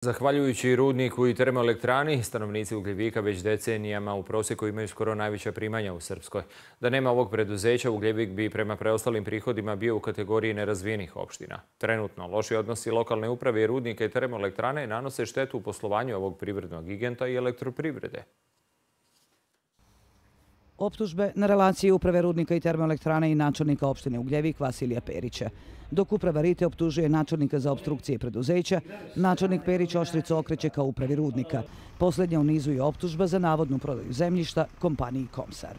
Zahvaljujući rudniku i termoelektrani, stanovnici Ugljevika već decenijama u prosjeku imaju skoro najveća primanja u Srpskoj. Da nema ovog preduzeća, Ugljevik bi prema preostalim prihodima bio u kategoriji nerazvijenih opština. Trenutno, loši odnosi lokalne uprave i rudnika i termoelektrane nanose štetu u poslovanju ovog privrednog giganta i elektroprivrede. Optužbe na relaciji uprave rudnika i termoelektrane i načelnika opštine Ugljevik Vasilija Perića. Dok uprava Rite optužuje načelnika za opstrukcije preduzeća, načelnik Perić oštricu okreće kao upravi rudnika. Posljednja u nizu je optužba za navodnu prodaju zemljišta kompaniji Komsar.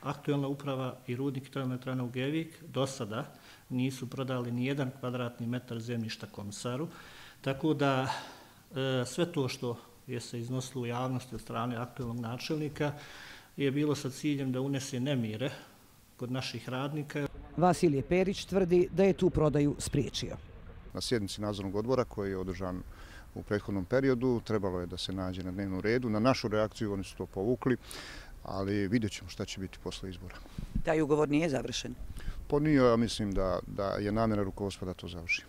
Aktuelna uprava i rudnik i termoelektrana Ugljevik do sada nisu prodali ni jedan kvadratni metar zemljišta Komsaru, tako da sve to što je se iznosilo u javnosti od strane aktuelnog načelnika je bilo sa ciljem da unese nemire kod naših radnika. Vasilije Perić tvrdi da je tu prodaju spriječio. Na sjednici nadzornog odbora koji je održan u prethodnom periodu trebalo je da se nađe na dnevnom redu. Na našu reakciju oni su to povukli, ali vidjet ćemo šta će biti posle izbora. Taj ugovor nije završen? Pa nije, ja mislim da je namjera rukovodstva da to završi.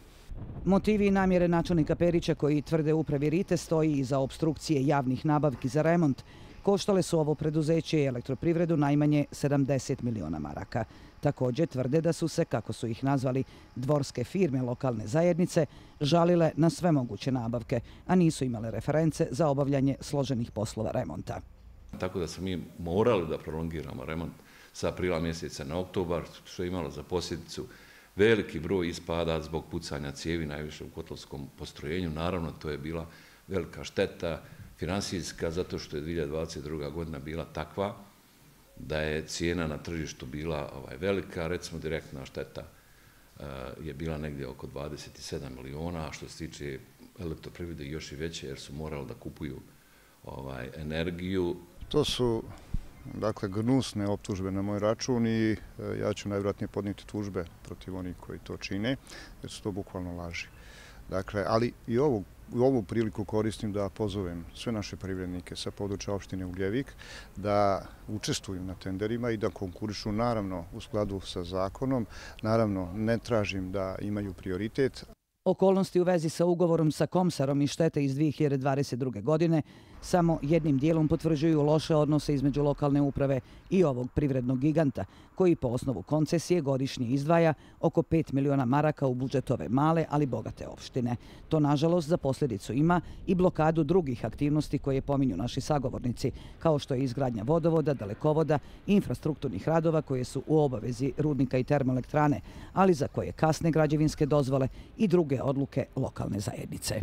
Motivi i namjere načelnika Perića koji tvrde upravi Rite stoji iza opstrukcije javnih nabavki za remont. Koštale su ovo preduzeće i elektroprivredu najmanje 70 miliona maraka. Također tvrde da su se, kako su ih nazvali, dvorske firme lokalne zajednice žalile na sve moguće nabavke, a nisu imale reference za obavljanje složenih poslova remonta. Tako da smo mi morali da prolongiramo remont sa aprila mjeseca na oktobar, što je imalo za posljedicu veliki broj ispada zbog pucanja cijevi, najviše u kotlovskom postrojenju. Naravno, to je bila velika šteta finansijska, zato što je 2022. godina bila takva da je cijena na tržištu bila velika. Recimo, direktna šteta je bila negdje oko 27 miliona, a što se tiče elektroprivrede još i veće, jer su morali da kupuju energiju. To su gnusne optužbe na moj račun i ja ću najvjerojatnije podnijeti tužbe protiv onih koji to čine, jer su to bukvalno laži. Ali i ovu priliku koristim da pozovem sve naše privrednike sa područja opštine Ugljevik da učestvuju na tenderima i da konkurišu, naravno u skladu sa zakonom. Naravno, ne tražim da imaju prioritet. Okolnosti u vezi sa ugovorom sa Komsarom i štete iz 2022. godine samo jednim dijelom potvrđuju loše odnose između lokalne uprave i ovog privrednog giganta, koji po osnovu koncesije godišnje izdvaja oko 5 miliona maraka u budžet ove male, ali bogate opštine. To, nažalost, za posljedicu ima i blokadu drugih aktivnosti koje pominju naši sagovornici, kao što je izgradnja vodovoda, dalekovoda i infrastrukturnih radova koje su u obavezi rudnika i termoelektrane, ali za koje kasne građevinske dozvole i druge odluke lokalne zajednice.